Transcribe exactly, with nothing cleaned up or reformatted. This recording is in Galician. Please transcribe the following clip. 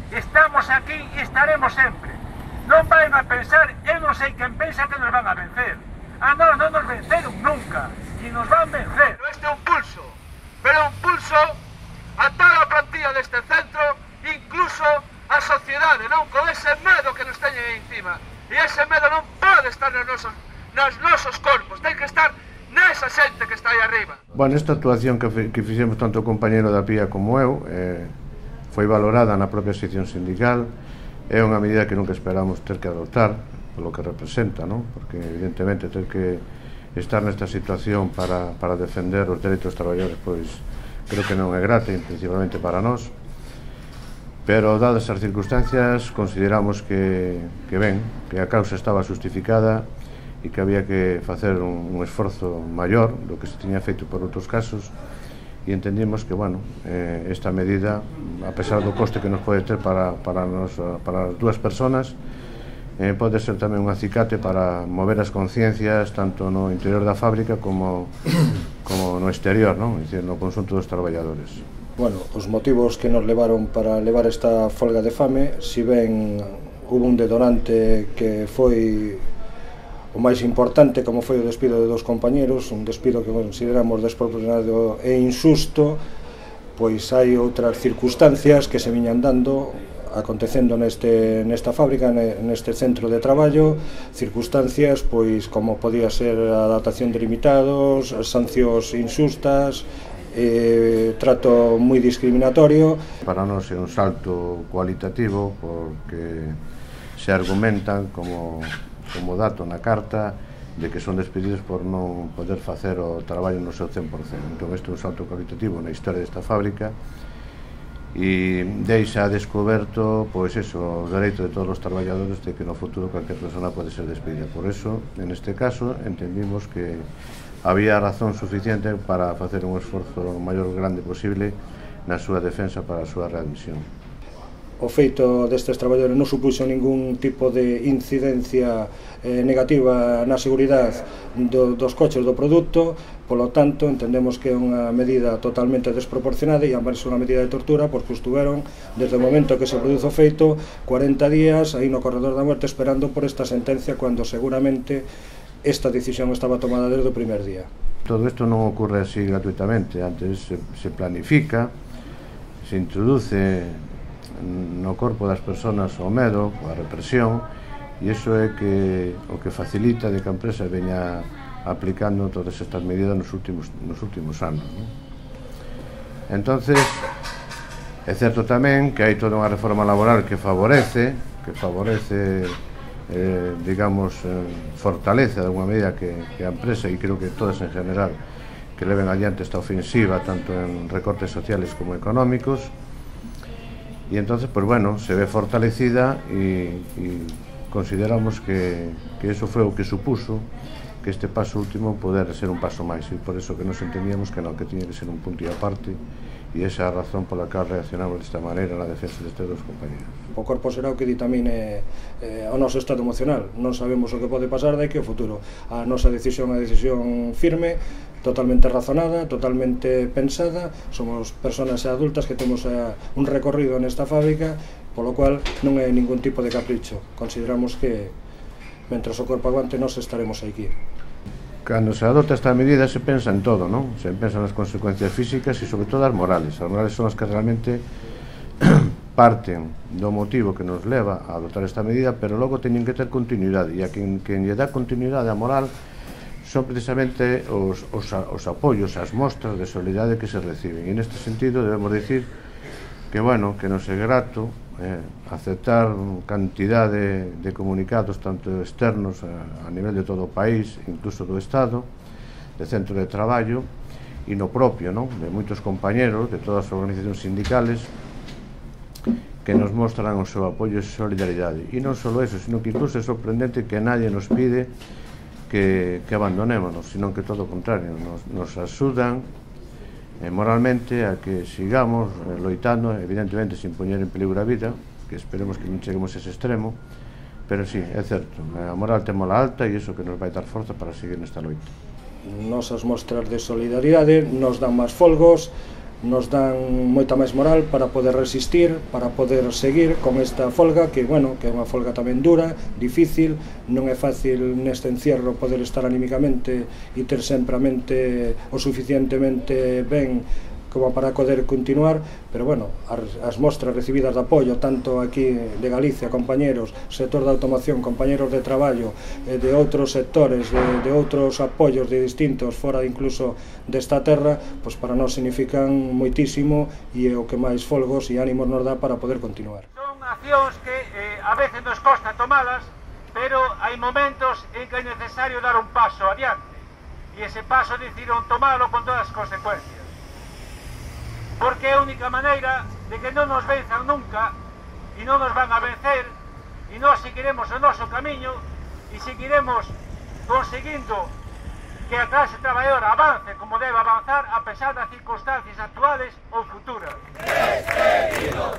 Estamos aquí e estaremos sempre. Non vayan a pensar, eu non sei quen pensa que nos van a vencer. A nós non nos venceron nunca, e nos van vencer. Este é un pulso, pero un pulso a toda a plantilla deste centro, incluso a sociedade, non? Con ese medo que nos teñen aí encima. E ese medo non pode estar nos nosos, nos nosos corpos, ten que estar nesa xente que está aí arriba. Bueno, esta actuación que, que fixemos tanto o compañero da Pía como eu eh, foi valorada na propia sección sindical. É unha medida que nunca esperamos ter que adoptar polo que representa, non? Porque evidentemente ter que estar nesta situación para, para defender os dereitos dos traballadores, pois creo que non é grata, principalmente para nós, pero dadas as circunstancias consideramos que, que ben, que a causa estaba justificada e que había que facer un, un esforzo maior do que se tiña feito por outros casos, e entendimos que, bueno, eh, esta medida, a pesar do coste que nos pode ter para, para, nos, para as dúas personas, eh, pode ser tamén un acicate para mover as conciencias tanto no interior da fábrica como, como no exterior, non? É dicir, no conxunto dos traballadores. Bueno, os motivos que nos levaron para levar esta folga de fame, si ben hubo un detonante que foi o máis importante, como foi o despido de dos compañeros, un despido que consideramos desproporcionado e injusto, pois hai outras circunstancias que se viñan dando, acontecendo neste, nesta fábrica, neste centro de traballo, circunstancias pois como podía ser a adaptación de limitados, sancións injustas, eh, trato moi discriminatorio. Para nós é un salto cualitativo porque se argumentan como como dato na carta de que son despedidos por non poder facer o traballo no seu cen por cento. Entón, este é un salto cualitativo na historia desta fábrica e deixa descoberto, pois eso, o dereito de todos os traballadores de que no futuro cualquier persona pode ser despedida. Por eso, en este caso, entendimos que había razón suficiente para facer un esforzo o maior grande posible na súa defensa para a súa readmisión. O feito destes traballadores non supuxo ningún tipo de incidencia eh, negativa na seguridade do, dos coches do produto, polo tanto entendemos que é unha medida totalmente desproporcionada e ambas unha medida de tortura porque estuveron desde o momento que se produzo o feito cuarenta días aí no corredor da muerte esperando por esta sentencia cando seguramente esta decisión estaba tomada desde o primer día. Todo isto non ocorre así gratuitamente, antes se, se planifica, se introduce no corpo das persoas o medo, a represión, e iso é que o que facilita de que a empresa veña aplicando todas estas medidas nos últimos, nos últimos anos, non? Entonces, é certo tamén que hai toda unha reforma laboral que favorece, que favorece, eh, digamos, eh, fortalece de alguma medida que, que a empresa, e creo que todas en general, que leven adiante esta ofensiva, tanto en recortes sociales como económicos. Y entonces, pues bueno, se ve fortalecida y, y consideramos que, que eso fue o que supuso que este paso último poder ser un paso máis, e por eso que nos entendíamos que non, que tiña que ser un punto e aparte, e esa é a razón pola que reaccionamos desta maneira na defensa destes dos compañeros. O corpo será o que ditamine eh, o noso estado emocional, non sabemos o que pode pasar daqui ao futuro. A nosa decisión é a decisión firme, totalmente razonada, totalmente pensada, somos persoas adultas que temos eh, un recorrido nesta fábrica, polo cual non é ningún tipo de capricho. Consideramos que, mentras o corpo aguante, nós estaremos aquí. Cando se adopta esta medida se pensa en todo, non? Se pensa nas consecuencias físicas e sobre todo as morales. As morales son as que realmente parten do motivo que nos leva a adoptar esta medida, pero logo teñen que ter continuidade, e a quen, quen lle dá continuidade á moral son precisamente os, os, os apoios, as mostras de solidaridade que se reciben. E neste sentido debemos dicir que, bueno, que nos é grato eh, aceptar cantidad de, de comunicados tanto externos a, a nivel de todo o país, incluso do Estado, de centro de traballo, e no propio, non? De moitos compañeros de todas as organizacións sindicales que nos mostran o seu apoio e solidaridade. E non só eso, sino que incluso é sorprendente que nadie nos pide que, que abandonémonos, sino que todo o contrario, nos, nos axudan eh, moralmente a que sigamos eh, loitando, evidentemente sin poñer en peligro a vida, que esperemos que non cheguemos a ese extremo, pero sí, é certo, a moral temola alta e iso que nos vai dar forza para seguir nesta loita. Nosas mostras de solidaridade nos dan máis folgos, nos dan moita máis moral para poder resistir, para poder seguir con esta folga, que, bueno, que é unha folga tamén dura, difícil, non é fácil neste encierro poder estar anímicamente e ter sempre a mente o suficientemente ben como para poder continuar, pero bueno, as, as mostras recibidas de apoio, tanto aquí de Galicia, compañeros, sector de automoción, compañeros de traballo, eh, de outros sectores, de, de outros apoios de distintos, fora incluso desta terra, pois para nós significan moitísimo e é o que máis folgos e ánimos nos dá para poder continuar. Son accións que eh, a veces nos costa tomalas, pero hai momentos en que é necesario dar un paso adiante, e ese paso decidieron tomalo con todas as consecuencias. Porque é a única maneira de que non nos venzan nunca e non nos van a vencer e nós seguiremos o noso camiño e seguiremos conseguindo que a clase traballadora avance como debe avanzar a pesar das circunstancias actuales ou futuras. Despedido,